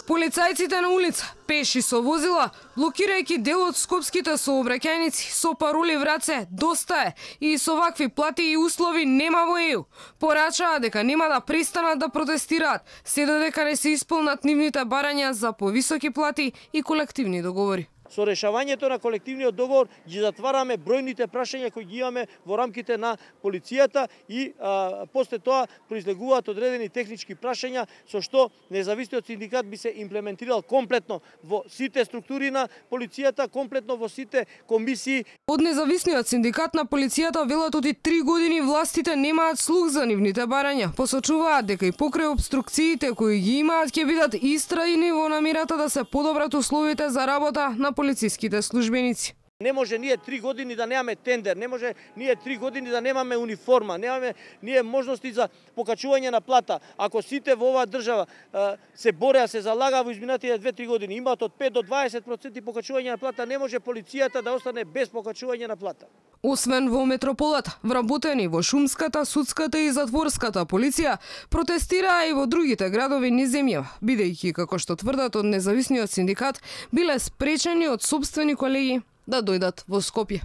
Полицајците на улица, пеши со возила, блокирајќи дел од скопските сообраќајници со пароли в раце "Доста е" и со вакви плати и услови нема во ЕУ. Порачаа дека нема да престанат да протестираат, се додека не се исполнат нивните барања за повисоки плати и колективни договори. Со решавањето на колективниот договор ги затвараме бројните прашања кои ги имаме во рамките на полицијата и после тоа произлегуваат одредени технички прашања со што независниот синдикат би се имплементирал комплетно во сите структури на полицијата, комплетно во сите комисии. Од независниот синдикат на полицијата велат оти 3 години властите немаат слух за нивните барања. Посочуваат дека и покрај обструкциите кои ги имаат ќе бидат истрајни во намерата да се подобрат условите за работа на полициските службеници. Не може ние 3 години да немаме тендер, не може ние 3 години да немаме униформа, немаме ние можности за покачување на плата. Ако сите во оваа држава се бореа, се залага во изминатите 2-3 години, имаат од 5 до 20% покачување на плата, не може полицијата да остане без покачување на плата. Освен во метрополата, вработени во шумската, судската и затворската полиција протестираа и во другите градови низ земјава, бидејќи, како што тврдат од независниот синдикат, биле спречени од сопствени колеги да дојдат во Скопје.